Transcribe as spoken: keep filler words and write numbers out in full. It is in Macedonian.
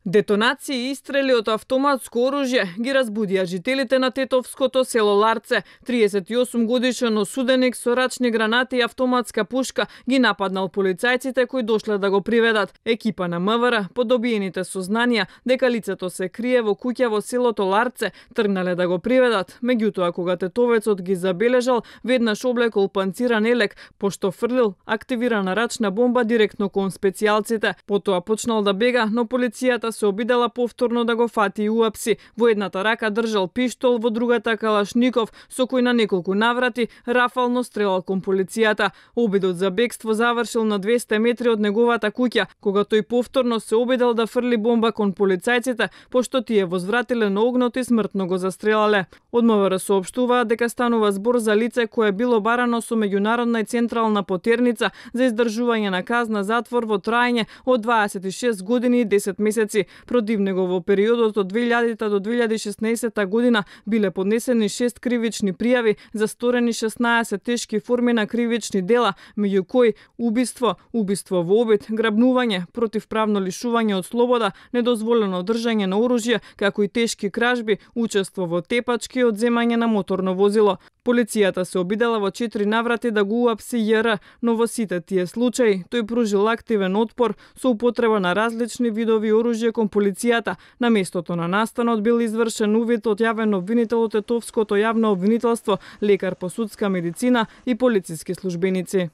Детонации и истрели од автоматско оружје ги разбудија жителите на тетовското село Ларце. триесет и осум годишен осуденик со рачни гранати и автоматска пушка ги нападнал полицајците кои дошле да го приведат. Екипа на МВР, по добиените сознанија дека лицето се крие во куќа во селото Ларце, тргнале да го приведат. Меѓутоа, кога тетовецот ги забележал, веднаш облекол панциран елек, пошто фрлил активирана рачна бомба директно кон специјалците. Потоа почнал да бега, но полицијата се обидела повторно да го фати и уапси. Во едната рака држал пиштол, во другата калашников, со кој на неколку наврати рафално стрелал кон полицијата. Обидот за бегство завршил на двесте метри од неговата куќа, кога тој повторно се обидел да фрли бомба кон полицајците, пошто тие возвратиле на огнот и смртно го застрелале. Од МВР соопштуваат дека станува збор за лице кое било барано со меѓународна и централна потерница за издржување на казна затвор во траење од дваесет и шест години и десет месеци. Против него во периодот од две илјадите до две илјади и шеснаесетта година биле поднесени шест кривични пријави за сторени шеснаесет тешки форми на кривични дела, меѓу кои убиство, убиство во обид, грабнување, противправно лишување од слобода, недозволено држање на оружје, како и тешки кражби, учество во тепачки и одземање на моторно возило. Полицијата се обидела во четири наврати да го уапси Ј Р, но во сите тие случаи тој пружил активен отпор со употреба на различни видови оружје кон полицијата. На местото на настанот бил извршен увид од јавен обвинител од Тетовското јавно обвинителство, лекар по судска медицина и полициски службеници.